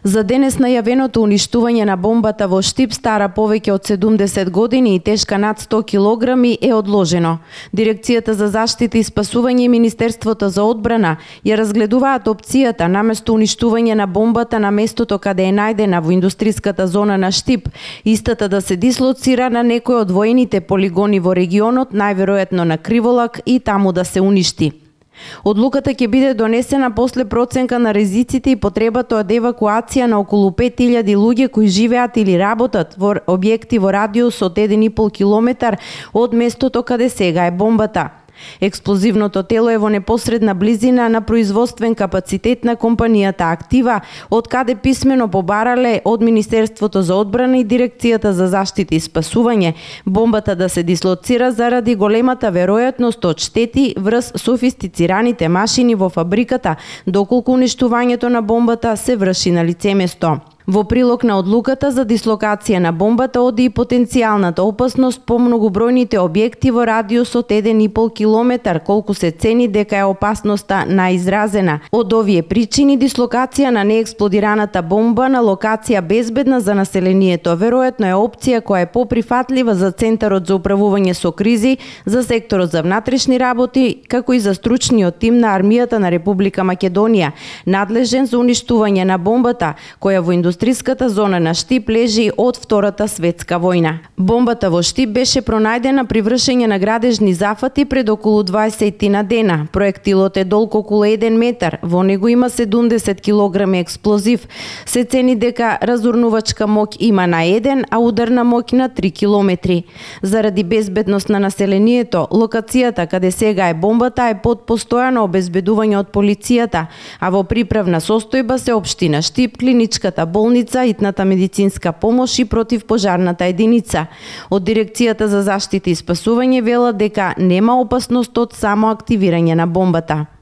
За денес најавеното уништување на бомбата во Штип, стара повеќе од 70 години и тешка над 100 килограми, е одложено. Дирекцијата за заштита и спасување и Министерството за одбрана ја разгледуваат опцијата наместо уништување на бомбата на местото каде е најдена во индустриската зона на Штип, истата да се дислоцира на некој од воените полигони во регионот, најверојатно на Криволак, и таму да се уништи. Одлуката ќе биде донесена после проценка на ризиците и потребата од евакуација на околу 5000 луѓе кои живеат или работат во објекти во радиус од 1,5 километар од местото каде сега е бомбата. Експлозивното тело е во непосредна близина на производствен капацитет на компанијата Актива, од каде писмено побарале од Министерството за одбрана и Дирекцијата за заштита и спасување бомбата да се дислоцира заради големата веројатност од штети врз софистицираните машини во фабриката, доколку уништувањето на бомбата се врши на лице место. Во прилог на одлуката за дислокација на бомбата оди и потенцијалната опасност по многобројните објекти во радиус од 1,5 километар, колку се цени дека е опасноста најизразена. Од овие причини дислокација на неексплодираната бомба на локација безбедна за населението веројатно е опција која е поприфатлива за Центарот за управување со кризи, за секторот за внатрешни работи, како и за стручниот тим на армијата на Република Македонија, надлежен за уништување на бомбата, која во индустриската зона на Штип лежи од Втората светска војна. Бомбата во Штип беше пронајдена при вршење на градежни зафати пред околу 20 на дена. Проектилот е долг околу 1 метар, во него има 70 килограми експлозив. Се цени дека разурнувачка моќ има на 1, а ударна моќ на 3 километри. Заради безбедност на населението, локацијата каде сега е бомбата е под постојано обезбедување од полицијата, а во приправна состојба се општина Штип, клиничката болница, итната медицинска помош и противпожарната единица. Од Дирекцијата за заштита и спасување велат дека нема опасност од само активирање на бомбата.